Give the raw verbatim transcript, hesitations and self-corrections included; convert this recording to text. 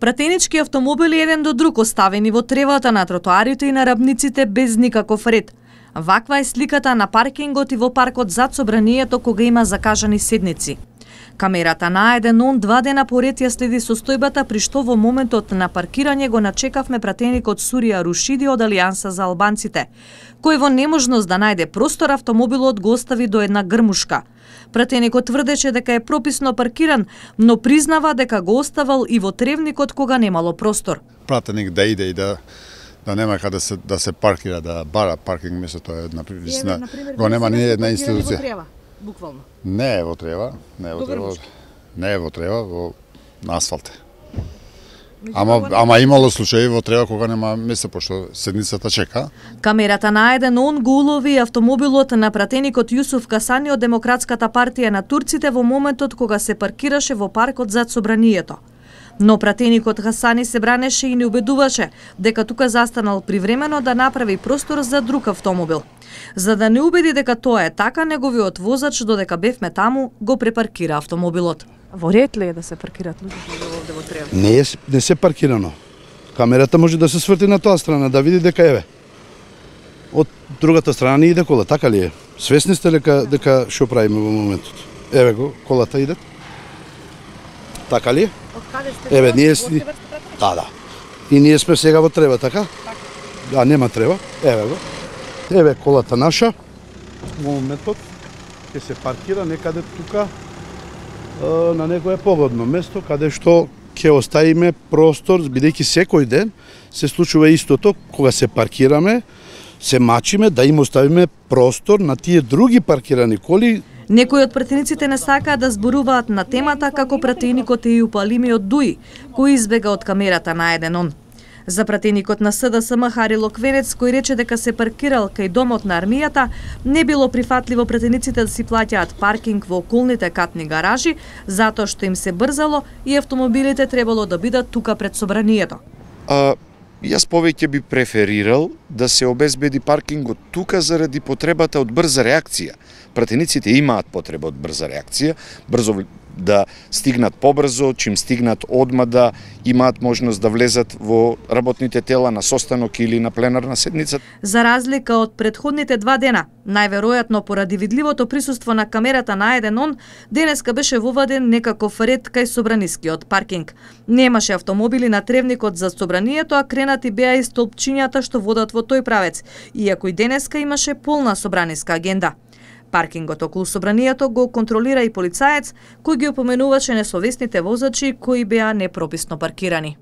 Пратенички автомобили еден до друг оставени во тревата на тротоарите и на рабниците без никаков ред. Ваква е сликата на паркингот и во паркот зад собранието кога има закажани седници. Камерата на А еден он два дена поред ја следи состојбата, при што во моментот на паркирање го начекавме пратеникот Сурија Рушиди од Алијанса за албанците, кој во неможност да најде простор автомобилот го остави до една грмушка. Пратеникот тврдеше дека е прописно паркиран, но признава дека го оставал и во тревникот кога немало простор. Пратеник да иде и да да нема каде се да се паркира, да бара паркинг место, тоа е на привисна. Го нема ни една институција. Буквално. Не е во трева, не е во трева. Не е во трева, во на асфалт. Ама ама имало случаи во трева кога нема место, пошто седницата чека. Камерата на А еден он го улови автомобилот на пратеникот Јусуф Касани од Демократската партија на турците во моментот кога се паркираше во паркот зад собранието. Но пратеникот Хасани се бранеше и не убедуваше дека тука застанал привремено да направи простор за друг автомобил. За да не убеди дека тоа е така, неговиот возач, додека бевме таму, го препаркира автомобилот. Во ред ли е да се паркираат луѓето овде во трева? Не е, не се паркирано. Камерата може да се сврти на тоа страна, да види дека еве. Од другата страна не иде кола, така ли е? Свесни сте дека дека што правиме во моментот? Еве го, колата иде. Така ли е? Еве, ние сме... Да, да. И ние сме сега во трева, така? Да, нема трева. Еве го. Еве колата наша. Во моментот ќе се паркира некаде тука на некое погодно место, каде што ќе оставиме простор, бидејќи секој ден се случува истото, кога се паркираме, се мачиме да им оставиме простор на тие други паркирани коли. Некои од пратениците не сакаат да зборуваат на темата како пратеникот Ејуп Алими од Дуи, кој избега од камерата на А еден он. За пратеникот на С Д С М Хари Локвенец, кој рече дека се паркирал кај домот на армијата, не било прифатливо пратениците да си плаќаат паркинг во околните катни гаражи, затоа што им се брзало и автомобилите требало да бидат тука пред собранието. А, јас повеќе би преферирал да се обезбеди паркингот тука заради потребата од брза реакција. Пратениците имаат потреба од брза реакција, брзо да стигнат побрзо, чим стигнат одма да имаат можност да влезат во работните тела на состанок или на пленарна седница. За разлика од претходните два дена, најверојатно поради видливото присуство на камерата на А еден он, денеска беше воведен некаков ред кај собранискиот паркинг. Немаше автомобили на тревникот за собранието, а кренати беа и столпчињата што водат во тој правец, иако и денеска имаше полна собраниска агенда. Паркингот околу собранието го контролира и полицаец, кој ги опоменуваше несовесните возачи кои беа непрописно паркирани.